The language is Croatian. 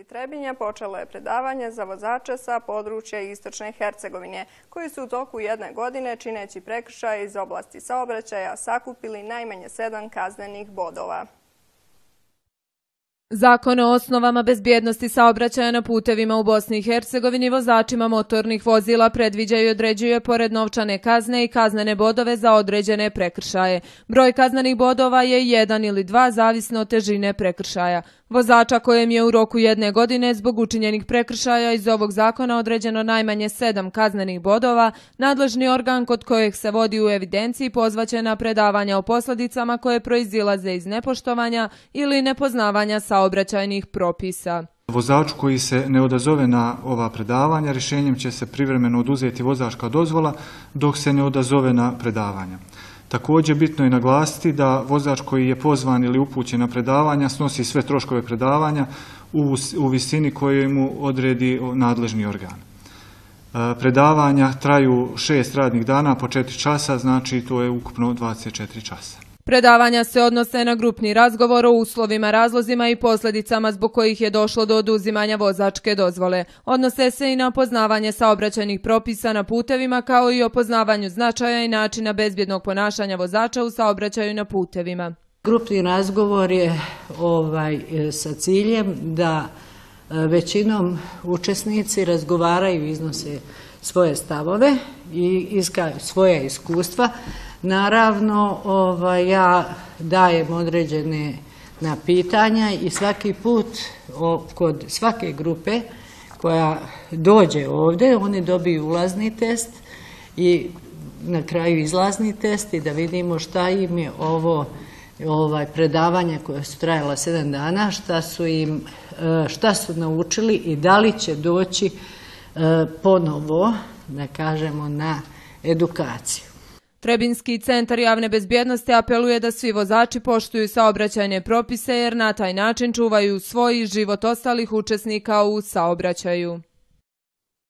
Trebinja počelo je predavanje za vozače sa područja Istočne Hercegovine, koji su u toku jedne godine, čineći prekršaje iz oblasti saobraćaja, sakupili najmanje 7 kaznenih bodova. Zakon o osnovama bezbjednosti saobraćaja na putevima u Bosni i Hercegovini vozačima motornih vozila predviđa i određuje pored novčane kazne i kaznene bodove za određene prekršaje. Broj kaznenih bodova je 1 ili 2, zavisno od težine prekršaja. Vozača kojem je u roku jedne godine zbog učinjenih prekršaja iz ovog zakona određeno najmanje 7 kaznenih bodova, nadležni organ kod kojeg se vodi u evidenciji pozvaće na predavanja o posljedicama koje proizilaze iz nepoštovanja ili nepoznavanja saobraćajnih propisa. Vozaču koji se ne odazove na ova predavanja, rješenjem će se privremeno oduzeti vozačka dozvola dok se ne odazove na predavanja. Također bitno je naglasiti da vozač koji je pozvan ili upućen na predavanja snosi sve troškove predavanja u visini koju mu odredi nadležni organ. Predavanja traju 6 radnih dana po 4 časa, znači to je ukupno 24 časa. Predavanja se odnose na grupni razgovor o uslovima, razlozima i posljedicama zbog kojih je došlo do oduzimanja vozačke dozvole. Odnose se i na poznavanje saobraćajnih propisa na putevima, kao i o poznavanju značaja i načina bezbjednog ponašanja vozača u saobraćaju na putevima. Grupni razgovor je sa ciljem da većinom učesnici razgovaraju i iznose svoje stavove i svoja iskustva. Naravno, ja dajem određene pitanja i svaki put kod svake grupe koja dođe ovdje, oni dobiju ulazni test i na kraju izlazni test i da vidimo šta im je ovo predavanja koja su trajala 7 dana, šta su naučili i da li će doći ponovo, da kažemo, na edukaciju. Trebinski centar javne bezbjednosti apeluje da svi vozači poštuju saobraćajne propise jer na taj način čuvaju svoj i život ostalih učesnika u saobraćaju.